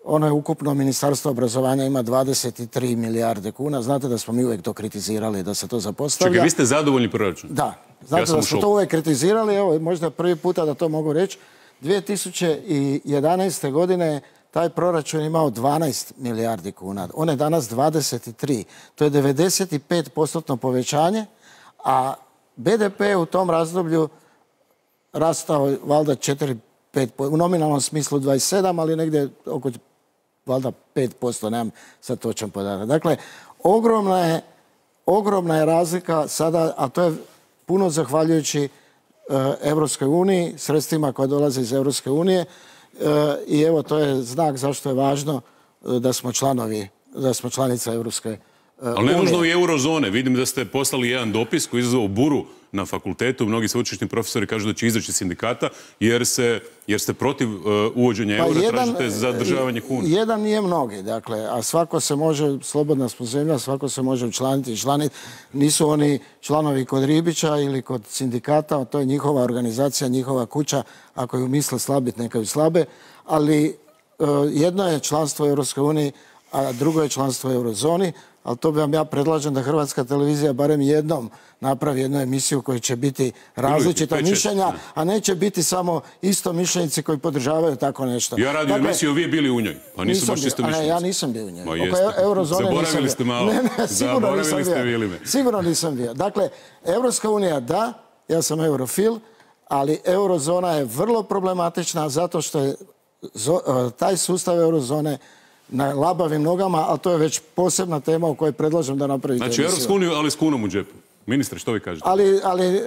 Ono je ukupno, Ministarstvo obrazovanja ima 23 milijarde kuna. Znate da smo mi uvijek to kritizirali, da se to zapostavlja. Čekaj, vi ste zadovoljni proračun? Da. Znate da smo to uvijek kritizirali. Evo, možda prvi puta da to mogu reći. 2011. godine taj proračun imao 12 milijardi kuna. On je danas 23. To je 95% povećanje, a BDP u tom razdoblju rastao valjda 4-5%, u nominalnom smislu 27, ali negdje oko valjda 5%, nemam sad točan podatak. Dakle, ogromna je razlika sada, a to je puno zahvaljujući Europskoj uniji, sredstvima koja dolaze iz Europske unije, i evo to je znak zašto je važno da smo članica Europske unije. Ali ne nužno i eurozone. Vidim da ste poslali jedan dopis koji je izazvao buru na fakultetu. Mnogi sveučilišni profesori kažu da će izaći iz sindikata jer ste protiv uvođenja eura, tražite zadržavanje kune. Jedan nije mnogi, dakle, a svako se može, slobodna smo zemlja, svako se može učlaniti i članiti. Nisu oni članovi kod Ribića ili kod sindikata, to je njihova organizacija, njihova kuća. Ako ju misle slabiti, neka ju slabe. Ali jedno je članstvo u Europskoj uniji, a drugo je članstvo u eurozoni. Ali to bi vam ja predlažem da Hrvatska televizija barem jednom napravi jednu emisiju koja će biti različita mišljenja, a neće biti samo isto mišljenici koji podržavaju tako nešto. Ja radim emisiju, vi bili u njoj, pa nisu baš isto mišljenici. Ja nisam bio u njoj. Zaboravili ste malo. Zaboravili ste bili me. Sigurno nisam bio. Dakle, Europska unija da, ja sam eurofil, ali eurozona je vrlo problematična zato što je taj sustav eurozone na labavim nogama, ali to je već posebna tema o kojoj predlažem da napravite emisiju. Znači, Europsku uniju, ali s kunom u džepu. Ministre, što vi kažete? Ali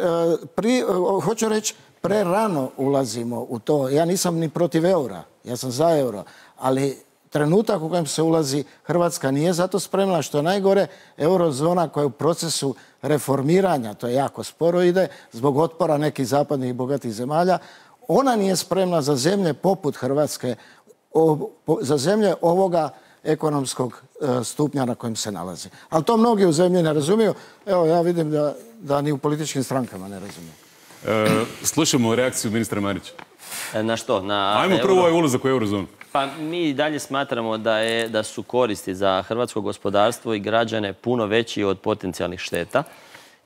hoću reći, prerano ulazimo u to. Ja nisam ni protiv eura, ja sam za euro, ali trenutak u kojem se ulazi, Hrvatska nije zato spremna, što je najgore, eurozona koja je u procesu reformiranja, to je jako sporo ide, zbog otpora nekih zapadnih i bogatih zemalja, ona nije spremna za zemlje poput Hrvatske, za zemlje ovoga ekonomskog stupnja na kojem se nalazi. Ali to mnogi u zemlji ne razumiju. Evo, ja vidim da ni u političkim strankama ne razumiju. Slušamo reakciju ministra Marića. Na što? Ajmo prvo ovaj ulazak u eurozonu. Pa mi i dalje smatramo da su koristi za hrvatsko gospodarstvo i građane puno veći od potencijalnih šteta.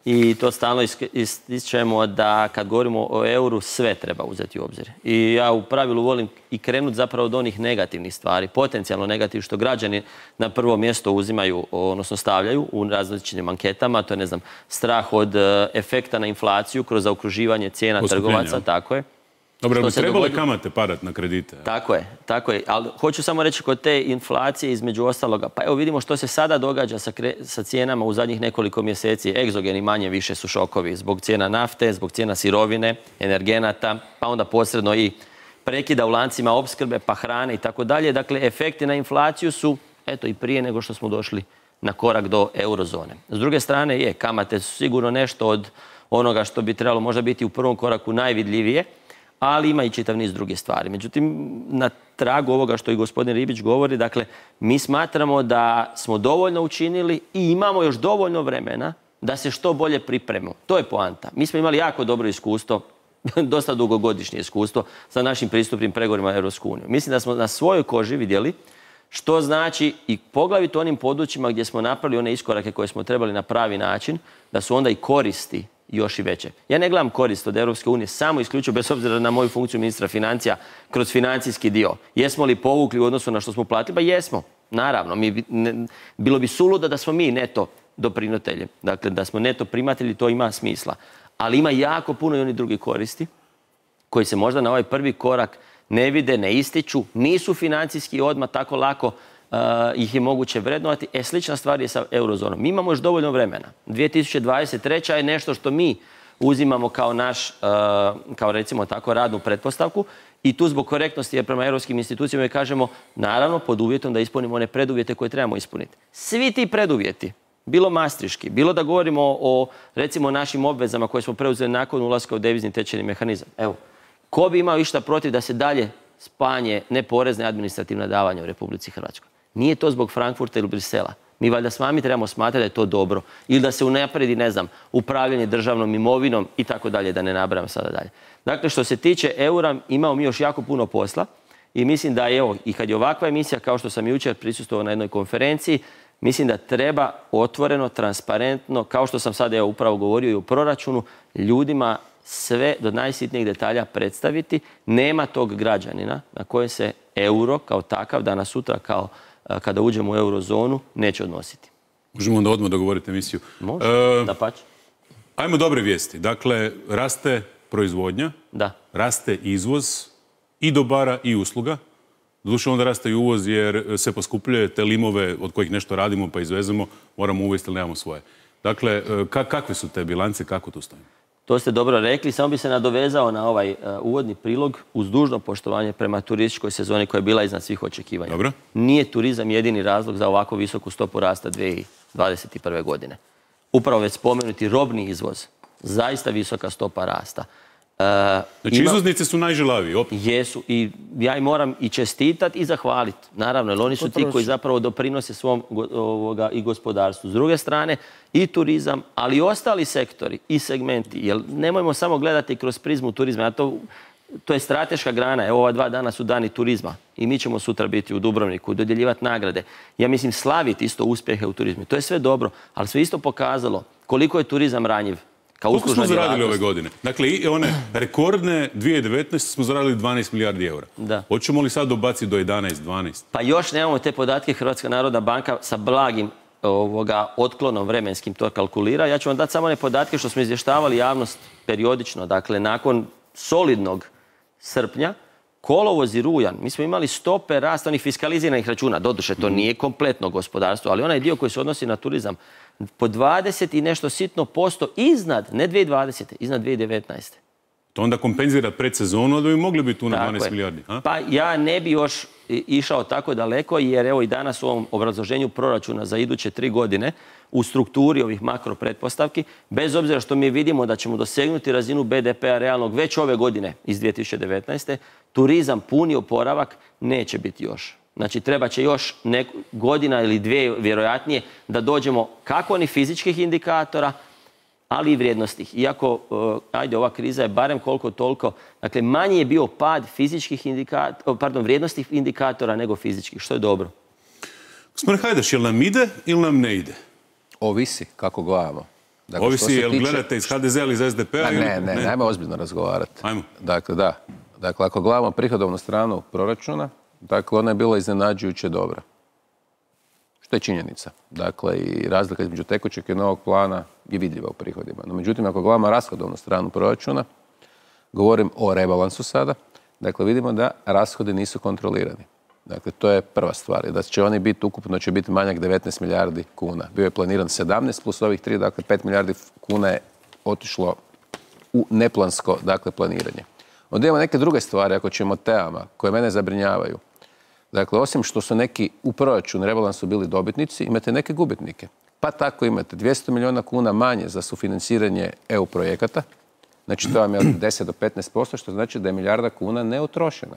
I to stalno ističemo da kad govorimo o euru sve treba uzeti u obzir. I ja u pravilu volim i krenuti zapravo od onih negativnih stvari, potencijalno negativnih što građani na prvo mjesto uzimaju, odnosno stavljaju u različitim anketama. To je, ne znam, strah od efekta na inflaciju kroz zaokruživanje cijena trgovaca, tako je. Dobro, ali bi trebale kamate padati na kredite? Tako je. Ali hoću samo reći kod te inflacije između ostaloga. Pa evo vidimo što se sada događa sa cijenama u zadnjih nekoliko mjeseci. Egzogeni manje više su šokovi zbog cijena nafte, zbog cijena sirovine, energenata, pa onda posredno i prekida u lancima opskrbe, pa hrane i tako dalje. Dakle, efekti na inflaciju su, eto, i prije nego što smo došli na korak do eurozone. S druge strane, kamate su sigurno nešto od onoga što bi trebalo možda biti u prvom koraku najvidljivije, ali ima i čitav niz drugih stvari. Međutim, na tragu ovoga što i gospodin Ribić govori, dakle, mi smatramo da smo dovoljno učinili i imamo još dovoljno vremena da se što bolje pripremimo. To je poanta. Mi smo imali jako dobro iskustvo, dosta dugogodišnje iskustvo sa našim pristupnim pregovorima u Europsku uniju. Mislim da smo na svojoj koži vidjeli što znači i poglavito onim područjima gdje smo napravili one iskorake koje smo trebali na pravi način, da su onda i koristi još i veće. Ja ne gledam korist od Europske unije samo isključivo bez obzira na moju funkciju ministra financija kroz financijski dio. Jesmo li povukli u odnosu na što smo platili? Pa jesmo, naravno. Bilo bi suludo da smo mi neto doprinatelji. Dakle, da smo neto primatelji, to ima smisla. Ali ima jako puno i oni drugi koristi koji se možda na ovaj prvi korak ne vide, ne ističu, nisu financijski odmah tako lako ih je moguće vrednovati. Slična stvar je sa eurozonom. Mi imamo još dovoljno vremena. 2023. je nešto što mi uzimamo kao naš, kao recimo tako, radnu pretpostavku i tu zbog korektnosti jer prema europskim institucijama kažemo naravno pod uvjetom da ispunimo one preduvjete koje trebamo ispuniti. Svi ti preduvjeti, bilo mastriški, bilo da govorimo o recimo našim obvezama koje smo preuzeli nakon ulaska u devizni tečajni mehanizam. Evo, ko bi imao išta protiv da se dalje spanje neporezne administrativne davanja u Republici Hrvatskoj? Nije to zbog Frankfurta ili Brisela. Mi valjda s vami trebamo smatrati da je to dobro. Ili da se unaprijedi, ne znam, upravljanje državnom imovinom i tako dalje, da ne nabrajam sada dalje. Dakle, što se tiče eura, imamo mi još jako puno posla i mislim da evo, i kad je ovakva emisija, kao što sam jučer prisustvovao na jednoj konferenciji, mislim da treba otvoreno, transparentno, kao što sam sad evo upravo govorio i u proračunu, ljudima sve do najsitnijih detalja predstaviti. Nema tog građanina na koje se euro kao takav danas sutra kao kada uđemo u eurozonu neće odnositi. Možemo onda odmah dogovoriti emisiju. Može, dapače. Ajmo dobre vijesti. Dakle, raste proizvodnja, raste izvoz i dobara i usluga. Doduše onda raste i uvoz jer se poskupljuje te limove od kojih nešto radimo pa izvezemo, moramo uvesti ili nemamo svoje. Dakle, kakve su te bilance, kako tu stojimo? To ste dobro rekli, samo bi se nadovezao na ovaj uvodni prilog uz dužno poštovanje prema turističkoj sezoni koja je bila iznad svih očekivanja. Dobro. Nije turizam jedini razlog za ovako visoku stopu rasta 2021. godine. Upravo već spomenuti robni izvoz, zaista visoka stopa rasta. Znači izvoznici su najžilaviji, opet. Jesu i ja im moram i čestitati i zahvaliti. Naravno, jer oni su ti koji zapravo doprinose svom i gospodarstvu. S druge strane, i turizam, ali i ostali sektori i segmenti. Jer nemojmo samo gledati kroz prizmu turizma. To je strateška grana. Evo, ova 2 dana su dani turizma. I mi ćemo sutra biti u Dubrovniku, dodjeljivati nagrade. Ja mislim, slaviti isto uspjehe u turizmu. To je sve dobro, ali sve isto pokazalo koliko je turizam ranjiv. Koliko smo zaradili ove godine? Dakle, i one rekordne 2019. smo zaradili 12 milijardi eura. Hoćemo li sad dobaciti do 11, 12? Pa još nemamo te podatke. Hrvatska narodna banka sa blagim otklonom vremenskim to kalkulira. Ja ću vam dati samo one podatke što smo izvještavali javnost periodično. Dakle, nakon solidnog srpnja, kolovoz i rujan, mi smo imali stope rasta onih fiskaliziranih računa. Doduše, to nije kompletno gospodarstvo, ali onaj dio koji se odnosi na turizam, po 20 i nešto sitno posto iznad, ne 2020. iznad 2019. To onda kompenzira predsezonu, da bi mogli biti tu na 12 milijardi. Pa ja ne bi još išao tako daleko, jer evo i danas u ovom obrazloženju proračuna za iduće 3 godine u strukturi ovih makro pretpostavki, bez obzira što mi vidimo da ćemo dosegnuti razinu BDP-a realnog već ove godine iz 2019. Turizam, puni oporavak, neće biti još. Znači, treba će još godina ili 2 vjerojatnije da dođemo kako onih fizičkih indikatora, ali i vrijednostnih. Iako, ajde, ova kriza je barem koliko toliko, dakle, manji je bio pad vrijednostnih indikatora nego fizičkih, što je dobro. Gospodin Hajdaš, jel nam ide ili nam ne ide? Ovisi kako gledamo. Dakle, Ovisi, jel gledate iz HDZ-a ili iz SDP-a? Ne, ajmo ozbiljno razgovarati. Ajmo. Dakle, da. Dakle, ako gledamo prihodovnu stranu proračuna, dakle, ona je bila iznenađujuće dobra. Što je činjenica. Dakle, i razlika između tekućeg i novog plana je vidljiva u prihodima. No, međutim, ako gledamo rashodovnu stranu proračuna, govorim o rebalansu sada, dakle, vidimo da rashodi nisu kontrolirani. Dakle, to je prva stvar. Da će oni biti, ukupno će biti manjak 19 milijardi kuna. Bio je planiran 17 plus ovih 3, dakle 5 milijardi kuna je otišlo u neplansko, dakle, planiranje. Onda imamo neke druge stvari, ako ćemo temama, koje mene zabrinjavaju. Dakle, osim što su neki u proračunu rebalansu bili dobitnici, imate neke gubitnike. Pa tako imate 200 milijuna kuna manje za sufinanciranje EU projekata. Znači, to vam je od 10 do 15%, što znači da je milijarda kuna neutrošena.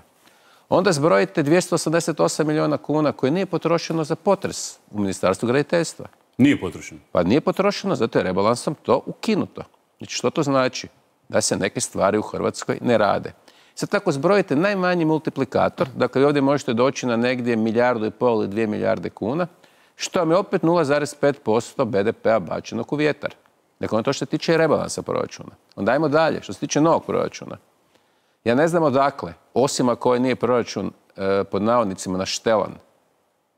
Onda zbrojite 288 milijuna kuna koje nije potrošeno za potres u Ministarstvu graditeljstva. Nije potrošeno? Pa nije potrošeno, zato je rebalansom to ukinuto. Znači, što to znači? Da se neke stvari u Hrvatskoj ne rade. Sad tako zbrojite najmanji multiplikator, dakle ovdje možete doći na negdje 1,5 milijardu ili 2 milijarde kuna, što vam je opet 0,5% BDP-a bačenog u vjetar. Dakle, ono to što se tiče rebalansa proračuna. Onda ajmo dalje, što se tiče novog proračuna. Ja ne znam odakle, osim ako ovaj nije proračun pod navodnicima naštelan,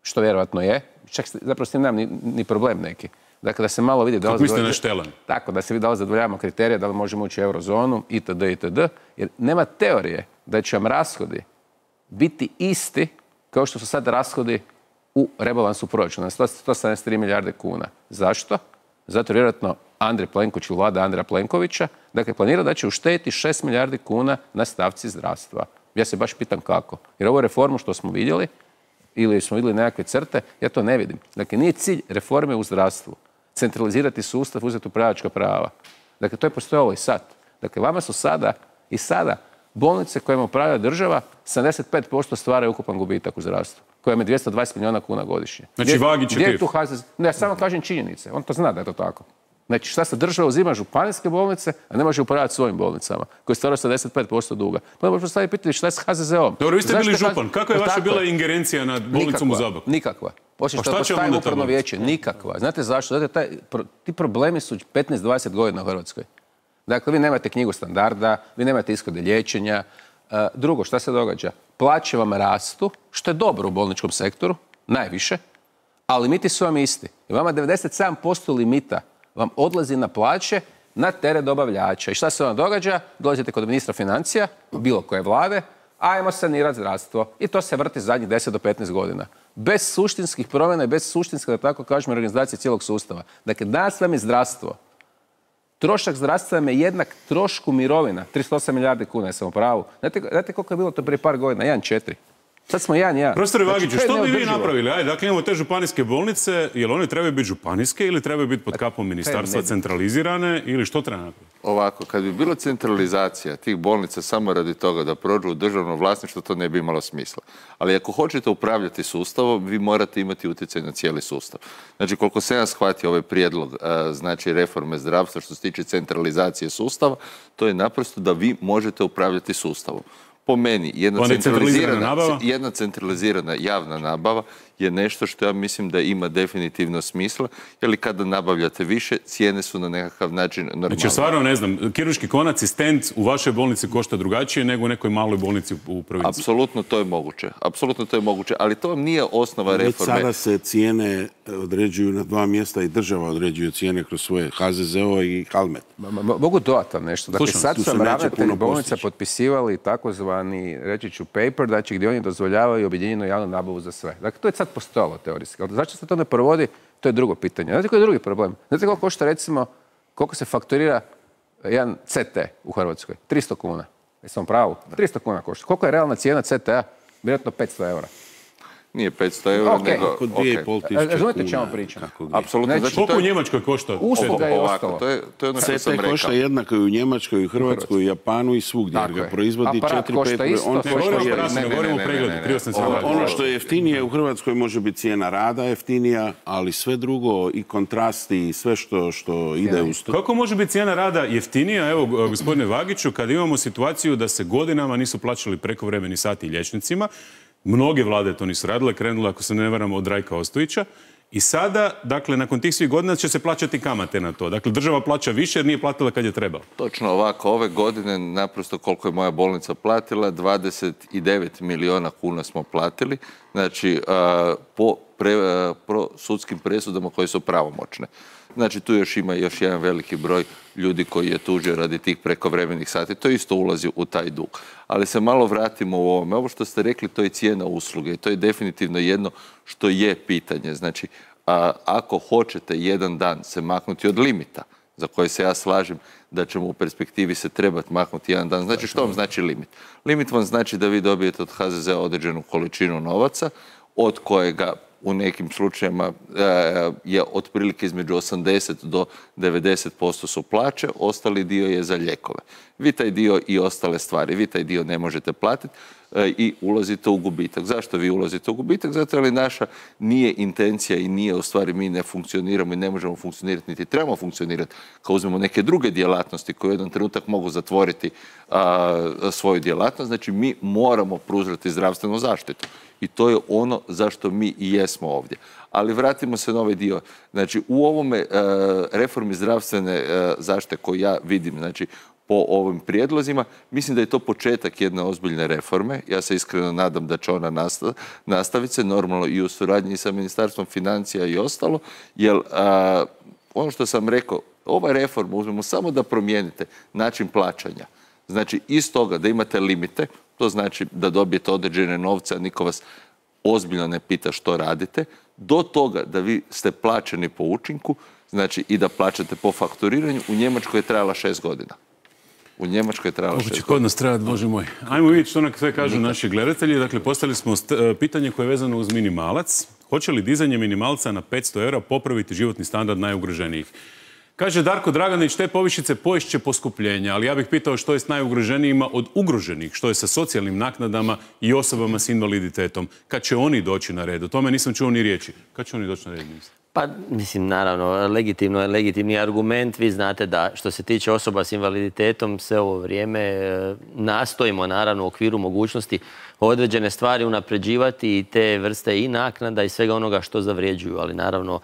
što vjerojatno je, čak zapravo s tim nemam ni problem neki. Dakle, da se malo vidi da li... Kako mislite naštelan? Tako, da se vidi da li zadovoljavamo kriterije, da li možemo ući u eurozonu, itd., itd. Jer nema teorije da će vam rashodi biti isti kao što su sad rashodi u rebalansu proračuna, 173 milijarde kuna. Zašto? Zato vjerojatno Andrej Plenković ili vlada Andreja Plenkovića, dakle, planira da će uštediti 6 milijardi kuna na stavci zdravstva. Ja se baš pitam kako. Jer ovu reformu što smo vidjeli, ili smo vidjeli nekakve crte, ja to ne vidim. Dakle, nije cilj reforme u zdravstvu centralizirati sustav, uzeti upravljačka prava. Dakle, to je postojalo i sad. Dakle, vama su sada i sada bolnice kojima upravlja država 75% stvaraju ukupan gubitak u zdravstvu, kojem je 220 milijuna kuna godišnje. Znači, Vagić je kriv. Ne, ja samo kažem činjenice. On to zna da je to tako. Znači, šta se država uzima županijske bolnice, a ne može upravljati svojim bolnicama, koje stvaraju 75% duga. Pa možemo postaviti pitanje šta je s HZZO-om. Dobro, vi ste bili župan. Kakva je vaša bila ingerencija nad bolnicom u Zaboku? Nikakva. Osim što postaje upravno vijeće. Nikakva. Znate zašto? Znate, ti problemi su 15-20 godina u Hrvatskoj. Dakle, vi nemate knjigu standarda, vi nemate ishode liječenja. Drugo, šta se događa? Plaće vam rastu, što je dobro u bolničkom sektoru, najviše, a limiti su vam isti. I vama 97% limita vam odlazi na plaće na teret dobavljača. I šta se vam događa? Dolazite kod ministra financija, bilo koje vlade, ajmo sanirati zdravstvo. I to se vrti zadnjih 10 do 15 godina. Bez suštinskih promjena i bez suštinske, da tako kažemo, organizacije cijelog sustava. Dakle, danas vam je zdravstvo. Trošak zdravstva vam je jednak trošku mirovina. 38 milijardi kuna, jesam u pravu. Znate koliko je bilo to prije par godina? 1,4. Sad smo 1,1. Profesore Vagiću, što bi vi napravili? Ajde, dakle, imamo te županijske bolnice, jel one trebaju biti županijske ili trebaju biti pod kapom ministarstva centralizirane ili što treba napraviti? Ovako, kad bi bila centralizacija tih bolnica samo radi toga da prođu u državno vlasništvo, to ne bi imalo smisla. Ali ako hoćete upravljati sustavom, vi morate imati utjecaj na cijeli sustav. Znači, koliko se ja shvatio ovaj prijedlog, znači reforme zdravstva što se tiče centralizacije sustava, to je naprosto da vi možete upravljati sustavom. Po meni, jedna centralizirana javna nabava je nešto što ja mislim da ima definitivno smisla, jer kada nabavljate više, cijene su na nekakav način normalne. Znači, stvarno ne znam, kirurški konac i stent u vašoj bolnici košta drugačije nego u nekoj maloj bolnici u provinciji. Apsolutno to je moguće, ali to vam nije osnova reforme. Već sada se cijene određuju na 2 mjesta i država određuje cijene kroz svoje HZZO i Halmet. Mogu dodati nešto. Dakle, sad sam ravnatelj bolnica potpisivali takozvani, reći ću, paper, znači gdje oni dozvoljavaju objedinjenu javnu nabavu za sve. Dakle, to je sad postojalo teorijski. Zašto se to ne provodi, to je drugo pitanje. Znate koji je drugi problem? Znate koliko košta, recimo, koliko se fakturira jedan CT u Hrvatskoj? 300 kuna. Jesam pravu? 300 kuna košta. Koliko je realna cijena CT-a? Vjerojatno 500 eura. Nije 500 eura, Ok. nego... Oko 2,5 tisuće Razumijete kuna. čemu pričam? Apsolutno. Znači, Koliko u Njemačkoj košta? Usluga je Ovako, ostalo. to je ono što sam CT rekao. košta jednako i u Njemačkoj, i u Hrvatskoj, i u Japanu i svugdje. Jer Tako ga je. proizvodi Aparat 4-5... košta isto, on sve košta košta jednako. Ne, govorimo o pregledu, krivo sam se radio. Ono što je jeftinije u Hrvatskoj može biti cijena rada jeftinija, ali sve drugo i kontrasti i sve što ide uz to. Kako može biti cijena rada jeftinija, evo gospodine Vagiću, kad imamo situaciju da se godinama nisu plaćali prekovremeni sati liječnicima, mnoge vlade to nisu radile, krenule, ako se ne varam, od Rajka Ostojića, i sada, dakle, nakon tih svih godina će se plaćati kamate na to. Dakle, država plaća više jer nije platila kad je trebalo. Točno ovako, ove godine naprosto koliko je moja bolnica platila, 29 milijuna kuna smo platili, znači po sudskim presudama koje su pravomoćne. Znači tu još ima još jedan veliki broj ljudi koji je tužio radi tih prekovremenih sati. To isto ulazi u taj dug. Ali se malo vratimo u ovome. Ovo što ste rekli, to je cijena usluge i to je definitivno jedno što je pitanje. Znači, ako hoćete jedan dan se maknuti od limita, za koje se ja slažem da ćemo u perspektivi se trebati maknuti jedan dan. Znači, što vam znači limit? Limit vam znači da vi dobijete od HZZ-a određenu količinu novaca, od kojega u nekim slučajevima je otprilike između 80 do 90% su plaće, ostali dio je za lijekove. Vi taj dio i ostale stvari, vi taj dio ne možete platiti i ulazite u gubitak. Zašto vi ulazite u gubitak? Zato jer naša nije intencija i nije u stvari mi ne funkcioniramo i ne možemo funkcionirati niti trebamo funkcionirati kao uzmemo neke druge djelatnosti koje u jedan trenutak mogu zatvoriti svoju djelatnost. Znači mi moramo pružati zdravstvenu zaštitu. I to je ono zašto mi i jesmo ovdje. Ali vratimo se na ovaj dio. Znači, u ovome reformi zdravstvene zaštite koju ja vidim, znači, po ovim prijedlozima, mislim da je to početak jedne ozbiljne reforme. Ja se iskreno nadam da će ona nastaviti se, normalno i u suradnji sa Ministarstvom financija i ostalo, jer ono što sam rekao, ova reforma, uzmemo samo da promijenite način plaćanja. Znači, iz toga da imate limite, to znači da dobijete određene novce, a niko vas ozbiljno ne pita što radite, do toga da vi ste plaćeni po učinku, znači i da plaćate po fakturiranju, u Njemačkoj je trajala 6 godina. U Njemačkoj je trajala 6 godina. Kako će kod nas trajati, Bože moj. Ajmo vidjeti što sve kažu naši gledatelji. Dakle, postavili smo pitanje koje je vezano uz minimalac. Hoće li dizanje minimalca na 500 eura popraviti životni standard najugroženijih? Kaže Darko Draganić, te povišice poješće poskupljenja, ali ja bih pitao što je s najugroženijima od ugroženih, što je sa socijalnim naknadama i osobama s invaliditetom. Kad će oni doći na red? O tome nisam čuo ni riječi. Kad će oni doći na red? Pa, mislim, naravno, legitimni argument. Vi znate da što se tiče osoba s invaliditetom sve ovo vrijeme nastojimo, naravno, u okviru mogućnosti određene stvari unapređivati i te vrste i naknada i svega onoga što zavređuju, ali naravno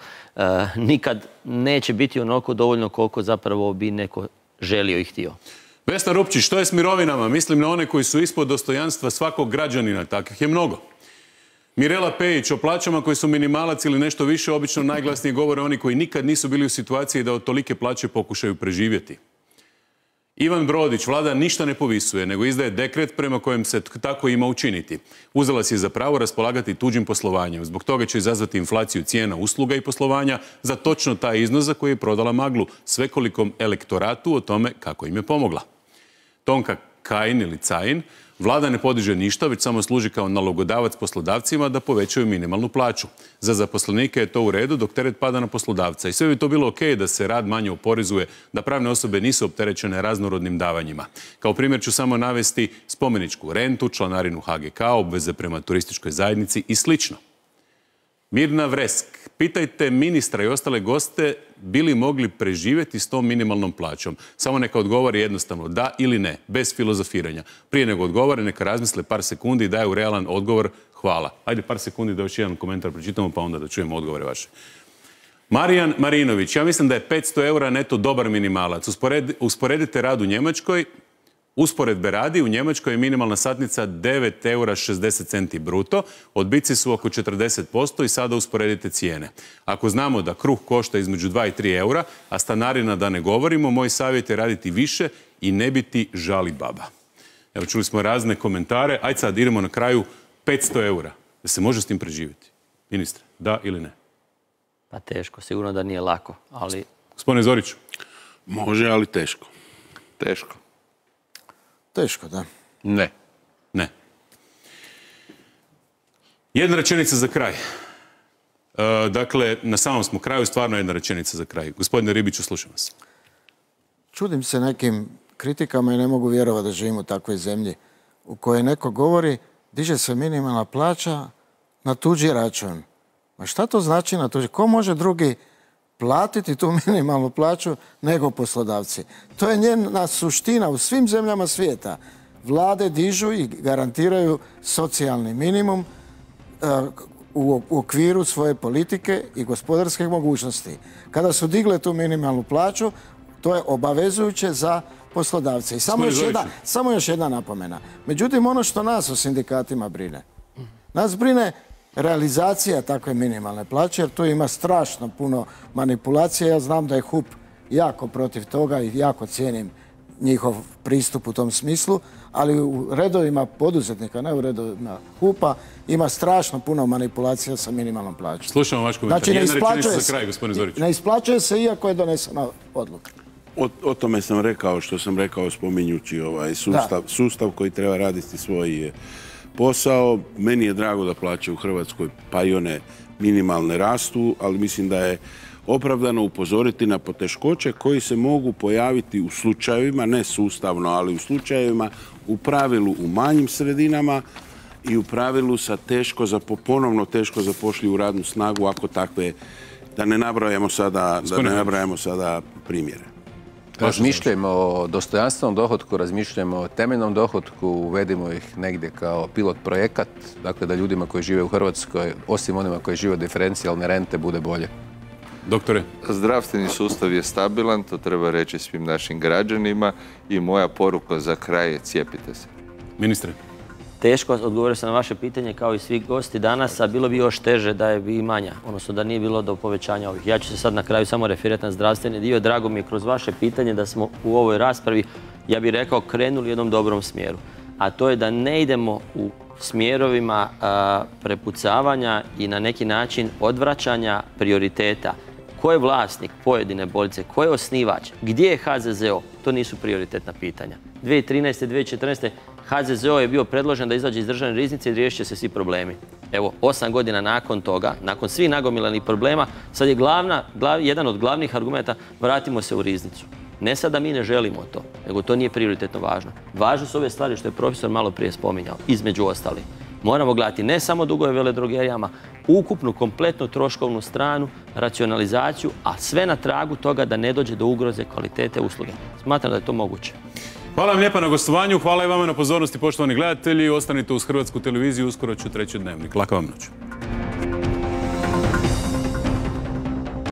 nikad neće biti onoliko dovoljno koliko zapravo bi neko želio i htio. Vesna Rupčić, što je s mirovinama? Mislim na one koji su ispod dostojanstva svakog građanina, takvih je mnogo. Mirela Pejić, o plaćama koji su minimalac ili nešto više, obično najglasnije govore oni koji nikad nisu bili u situaciji da od tolike plaće pokušaju preživjeti. Ivan Brodić, vlada ništa ne povisuje, nego izdaje dekret prema kojem se tako ima učiniti. Uzela si je za pravo raspolagati tuđim poslovanjem. Zbog toga će izazvati inflaciju cijena usluga i poslovanja za točno taj iznos za koji je prodala maglu svekolikom elektoratu o tome kako im je pomogla. Tonka Kajin ili Cajin, vlada ne podiže ništa, već samo služi kao nalogodavac poslodavcima da povećaju minimalnu plaću. Za zaposlenike je to u redu dok teret pada na poslodavca. I sve bi to bilo okej da se rad manje oporezuje, da pravne osobe nisu opterećene raznorodnim davanjima. Kao primjer ću samo navesti spomeničku rentu, članarinu HGK, obveze prema turističkoj zajednici i slično. Mirna Vresk, pitajte ministra i ostale goste bi li mogli preživjeti s tom minimalnom plaćom. Samo neka odgovori jednostavno da ili ne, bez filozofiranja. Prije nego odgovore, neka razmisle par sekundi i daju realan odgovor hvala. Ajde par sekundi da još jedan komentar pročitamo pa onda da čujemo odgovore vaše. Marijan Marinović, ja mislim da je 500 eura neto dobar minimalac. Usporedite rad u Njemačkoj. Usporedbe radi, u Njemačkoj je minimalna satnica 9,60 eura bruto, odbici su oko 40% i sada usporedite cijene. Ako znamo da kruh košta između 2 i 3 eura, a stanarina da ne govorimo, moj savjet je raditi više i ne biti žali baba. Evo, čuli smo razne komentare. Ajde sad, idemo na kraju 500 eura. Da se može s tim preživjeti? Ministre, da ili ne? Pa teško, sigurno da nije lako, ali... Gospodine Zoriću. Može, ali teško. Teško. Teško, da. Ne. Ne. Jedna rečenica za kraj. Dakle, na samom smo kraju, stvarno jedna rečenica za kraj. Gospodine Ribiću, slušam vas. Čudim se nekim kritikama i ne mogu vjerovati da živim u takvoj zemlji u kojoj neko govori diže se minimalna plaća na tuđi račun. Ma šta to znači na tuđi? Ko može drugi platiti tu minimalnu plaću nego poslodavci? To je njena suština u svim zemljama svijeta. Vlade dižu i garantiraju socijalni minimum u okviru svoje politike i gospodarske mogućnosti. Kada su digle tu minimalnu plaću, to je obavezujuće za poslodavce. I samo još jedna napomena. Međutim, ono što nas u sindikatima brine, nas brine realizacija takve minimalne plaće, jer tu ima strašno puno manipulacija. Ja znam da je HUP jako protiv toga i jako cijenim njihov pristup u tom smislu, ali u redovima poduzetnika, ne u redovima HUP-a, ima strašno puno manipulacija sa minimalnom plaćom. Slušamo vaš komentar. Znači, ne isplaćuje se iako je donesena odluka. O tome sam rekao što sam rekao spominjući sustav koji treba raditi svoj posao. Meni je drago da plaće u Hrvatskoj, pa i one minimalne, rastu, ali mislim da je opravdano upozoriti na poteškoće koji se mogu pojaviti u slučajevima, ne sustavno, ali u slučajevima u pravilu u manjim sredinama i u pravilu sa ponovno teško zapošljivu radnu snagu, ako takve, da ne nabrajamo sada primjere. Razmišljajmo o dostojanstvenom dohotku, razmišljajmo o temeljnom dohotku, uvedimo ih negdje kao pilot projekat, dakle da ljudima koji žive u Hrvatskoj, osim onima koji žive od diferencijalne rente, bude bolje. Doktore? Zdravstveni sustav je stabilan, to treba reći svim našim građanima i moja poruka za kraj je cijepite se. Ministre? Teško odgovorio sam na vaše pitanje kao i svi gosti danas, a bilo bi još teže da je i manja, odnosno da nije bilo do povećanja ovih. Ja ću se sad na kraju samo referirati na zdravstveni dio. Drago mi je kroz vaše pitanje da smo u ovoj raspravi, ja bih rekao, krenuli u jednom dobrom smjeru. A to je da ne idemo u smjerovima prepucavanja i na neki način odvraćanja prioriteta. Ko je vlasnik pojedine bolnice, ko je osnivač, gdje je HZZO, to nisu prioritetna pitanja. 2013. 2014. HZZO je bio predložen da izađe iz državne riznice i riješit će se svi problemi. Evo, 8 godina nakon toga, nakon svih nagomilanih problema, sad je jedan od glavnih argumenta vratimo se u riznicu. Ne sad da mi ne želimo to, nego to nije prioritetno važno. Važno su ove stvari što je profesor malo prije spominjao, između ostalih. Moramo gledati ne samo dugove veledrogerijama, ukupnu, kompletnu troškovnu stranu, racionalizaciju, a sve na tragu toga da ne dođe do ugroze kvalitete usluge. Smatram da je to moguće. Hvala vam lijepa na gostovanju, hvala i vama na pozornosti, poštovani gledatelji. Ostanite uz Hrvatsku televiziju, uskoro ću treći dnevnik. Laka vam noć.